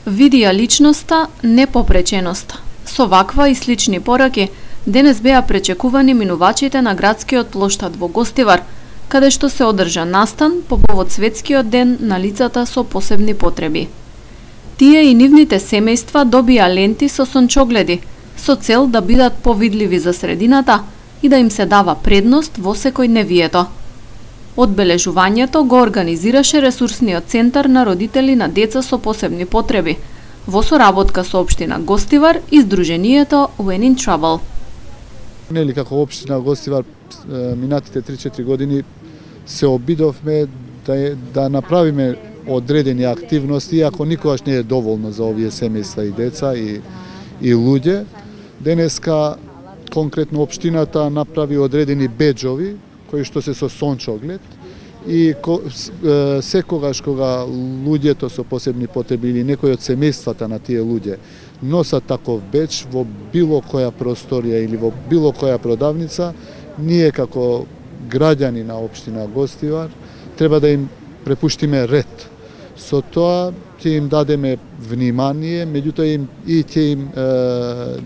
Види ја личноста, не попреченоста. Со ваква и слични пораки, денес беа пречекувани минувачите на градскиот плоштад во Гостивар, каде што се одржа настан по повод светскиот ден на лицата со посебни потреби. Тие и нивните семејства добија ленти со сончогледи, со цел да бидат повидливи за средината и да им се дава предност во секојдневието. Одбележувањето го организираше ресурсниот центар на родители на деца со посебни потреби, во соработка со општина Гостивар и Сдруженијето When in Trouble. Нели како општина Гостивар минатите 3-4 години се обидовме да направиме одредени активности, иако никогаш не е доволно за овие семејства и деца и луѓе. Денеска конкретно општината направи одредени беџови кои што се со сончоглед и секогаш кога луѓето со посебни потреби или некој од семејствата на тие луѓе носат таков беџ во било која просторија или во било која продавница, ние како граѓани на општина Гостивар треба да им препуштиме ред. Со тоа ќе им дадеме внимание, меѓутоа ќе им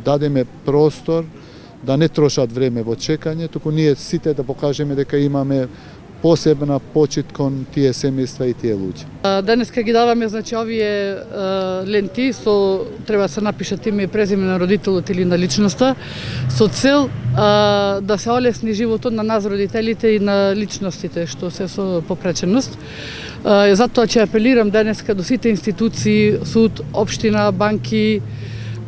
дадеме простор да не трошат време во чекање, туку ние сите да покажеме дека имаме посебна почит кон тие семејства и тие луѓе. Денеска ги даваме овие ленти со треба да се напишат име и презиме на родителот или на личноста со цел да се олесни животот на нас родителите и на личностите што се со попреченост. Затоа ќе апелирам денеска до сите институции, суд, општина, банки,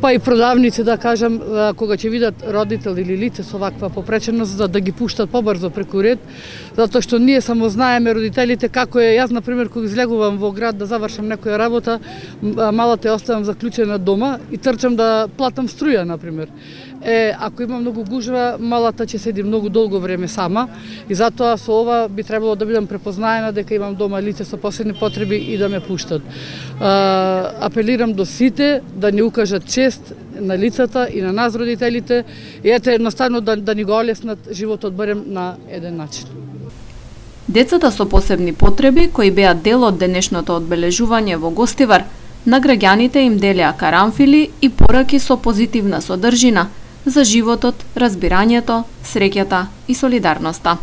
па и продавници, да кажам, кога ќе видат родител или лице со ваква попреченост, да ги пуштат побрзо преку ред, затоа што ние само знаеме родителите како е. Јас, например, кога излегувам во град да завршам некоја работа, малата ја оставам заклучена дома и трчам да платам струја, например. Ако има многу гужва, малата ќе седи многу долго време сама и затоа со ова би требало да бидам препознаена дека имам дома лице со посебни потреби и да ме пуштат. Апелирам до сите да ни укажат чест на лицата и на нас родителите и едноставно да ни го олеснат животот барем на еден начин. Децата со посебни потреби, кои беа дел од денешното одбележување во Гостивар, на граѓаните им делеа карамфили и пораки со позитивна содржина за животот, разбирањето, среќата и солидарноста.